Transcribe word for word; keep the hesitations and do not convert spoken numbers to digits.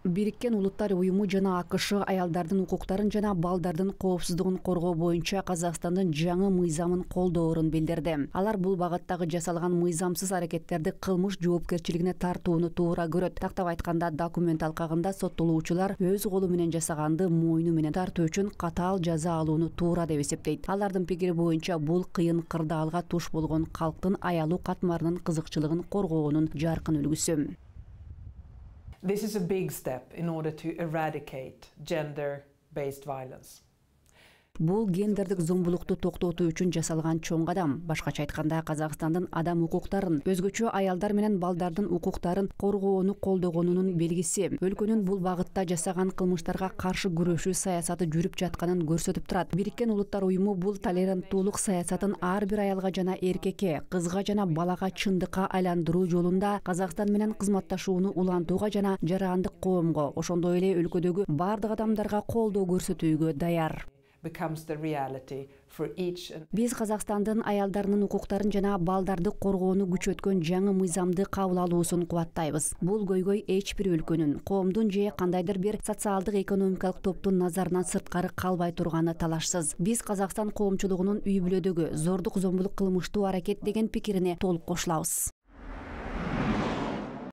Бириккен Улуттар уюму жана АКШ аялдардын укуктарын жана балдардын коопсуздугун коргоо боюнча Казакстандын жаңы мыйзамын колдоорун билдирди. Алар бул багыттагы жасалган мыйзамсыз аракеттерди кылмыш жоопкерчилигине тартууну туура көрөт. Тактап айтканда, документ алкагында соттолуучулар өз колу менен жасаганды мойну менен тартуу үчүн катаал жаза алууну туура деп эсептейт. Алардын пикири боюнча бул кыйын кырдаалга туш болгон калктын аялуу катмарынын кызыкчылыгын коргоонун жаркын үлгүсү. This is a big step in order to eradicate gender-based violence. Бул гендердик зомбулукту токтотуу үчүн жасалган чоң кадам. Башкача айтканда, Казакстандын адам укуктарын, өзгөчө аялдар менен балдардын укуктарын коргоону колдогонунун белгиси. Өлкөнүн бул багытта жасаган кылмыштарга каршы күрөшүү саясаты жүрүп жатканын көрсөтүп турат. Бириккен Улуттар уюму бул толеранттуулук саясатын ар бир аялга жана эркекке, кызга жана балага чындыкка айландыруу жолунда Казакстан менен кызматташууну улантууга жана жарандык коомго, ошондой эле өлкөдөгү бардык адамдарга колдоо көрсөтүүгө даяр. Биз Казакстандын аялдарынын укуктарын жана балдарды коргоону күчөткөн жаңы мыйзамды кабыл алуусун кубаттайбыз. Бул көйгөй эч бир өлкөнүн, коомдун же кандайдыр бир социалдык экономикалык топтун назарынан сырткары калбай турганы талашсыз. Биз Казакстан коомчулугунун үй бүлөдөгү зордук зомбулук кылмыштуу аракет деген пикирине толук кошулабыз.